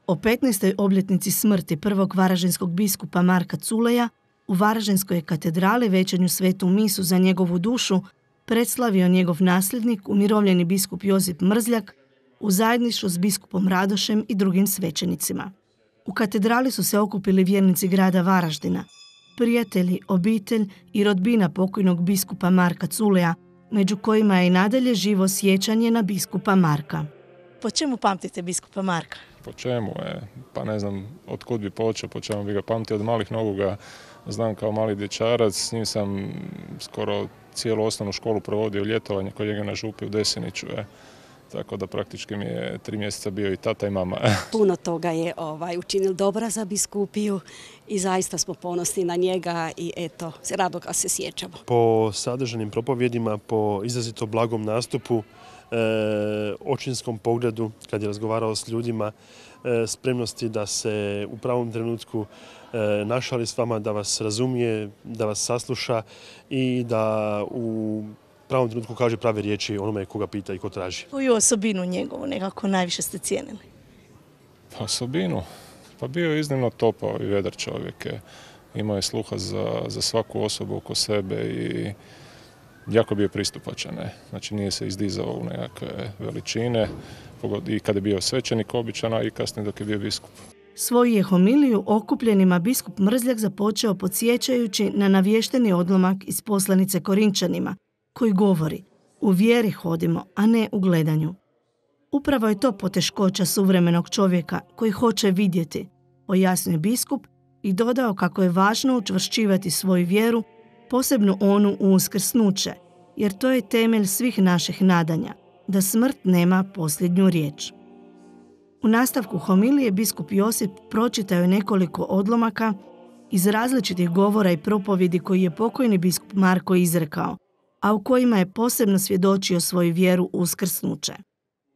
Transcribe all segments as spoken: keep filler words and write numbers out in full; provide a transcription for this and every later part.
O petnaestoj obljetnici smrti prvog varaždinskog biskupa Marka Culeja u Varaždinskoj katedrali večernju svetu misu za njegovu dušu predslavio njegov nasljednik, umirovljeni biskup Josip Mrzljak, u zajedništvu s biskupom Radošem i drugim svećenicima. U katedrali su se okupili vjernici grada Varaždina, prijatelji, obitelj i rodbina pokojnog biskupa Marka Culeja, među kojima je i nadalje živo sjećanje na biskupa Marka. Po čemu pamtite biskupa Marka? Po čemu je? Pa ne znam od kud bi počeo, po čemu bi ga pamtio. Od malih nogu ga znam kao mali dječarac, s njim sam skoro cijelu osnovnu školu provodio ljetovanje kod njega na Župi u Deseniću. Je. Tako da praktički mi je tri mjeseca bio i tata i mama. Puno toga je ovaj, učinil dobra za biskupiju i zaista smo ponosni na njega i eto, rado ga se sjećamo. Po sadržanim propovjedima, po izrazito blagom nastupu, e, očinskom pogledu, kad je razgovarao s ljudima, e, spremnosti da se u pravom trenutku e, našali s vama, da vas razumije, da vas sasluša i da u pravom trenutku kaže prave riječi onome koga pita i ko traži. Koju osobinu njegovu nekako najviše ste cijenili? Pa osobinu? Pa bio je iznimno topao i vedar čovjek. Imao je sluha za, za svaku osobu oko sebe i jako bio pristupačan. Ne? Znači nije se izdizao u nekakve veličine i kada je bio svećenik običan, a i kasnije dok je bio biskup. Svoju je homiliju okupljenima biskup Mrzljak započeo podsjećajući na navješteni odlomak iz poslanice Korinčanima, koji govori: u vjeri hodimo, a ne u gledanju. Upravo je to poteškoća suvremenog čovjeka koji hoće vidjeti, pojasnio biskup i dodao kako je važno učvršćivati svoju vjeru, posebno onu u uskrsnuće, jer to je temelj svih naših nadanja, da smrt nema posljednju riječ. U nastavku homilije biskup Josip pročitao je nekoliko odlomaka iz različitih govora i propovjedi koji je pokojni biskup Marko izrekao, a u kojima je posebno svjedočio svoju vjeru u uskrsnuće.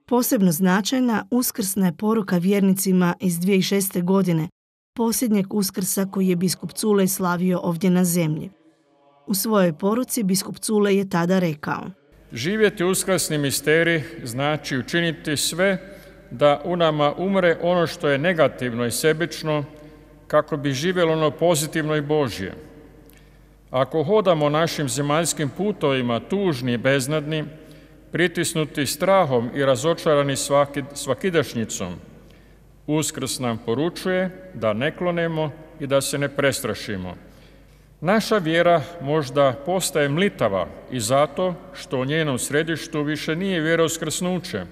Posebno značajna uskrsna je poruka vjernicima iz dvije tisuće šeste. godine, posljednjeg uskrsa koji je biskup Culej slavio ovdje na zemlji. U svojoj poruci biskup Culej je tada rekao: živjeti uskrsni misterij znači učiniti sve da u nama umre ono što je negativno i sebično, kako bi živjelo ono pozitivno i Božje. Ako hodamo našim zemaljskim putovima tužni i beznadni, pritisnuti strahom i razočarani svaki, svakidašnjicom, Uskrs nam poručuje da ne klonemo i da se ne prestrašimo. Naša vjera možda postaje mlitava i zato što u njenom središtu više nije vjera uskrsnuće,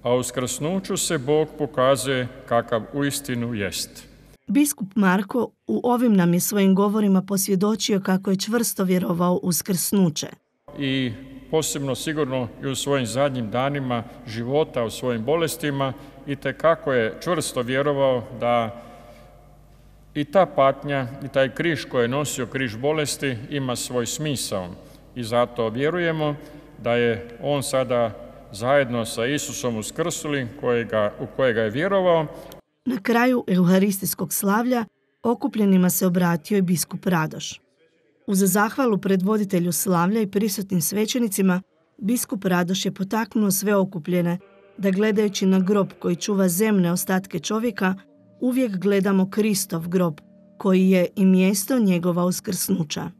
a u uskrsnuću se Bog pokazuje kakav uistinu jest. Biskup Marko u ovim nam je svojim govorima posvjedočio kako je čvrsto vjerovao u uskrsnuće. I posebno sigurno i u svojim zadnjim danima života, u svojim bolestima, i tekako je čvrsto vjerovao da i ta patnja i taj križ koji je nosio, križ bolesti, ima svoj smisao. I zato vjerujemo da je on sada zajedno sa Isusom uskrsli, kojega, u kojega je vjerovao. Na kraju euharistijskog slavlja okupljenima se obratio i biskup Radoš. Uz zahvalu predvoditelju slavlja i prisutnim svećenicima, biskup Radoš je potaknuo sve okupljene da gledajući na grob koji čuva zemne ostatke čovjeka, uvijek gledamo Kristov grob, koji je i mjesto njegova uskrsnuća.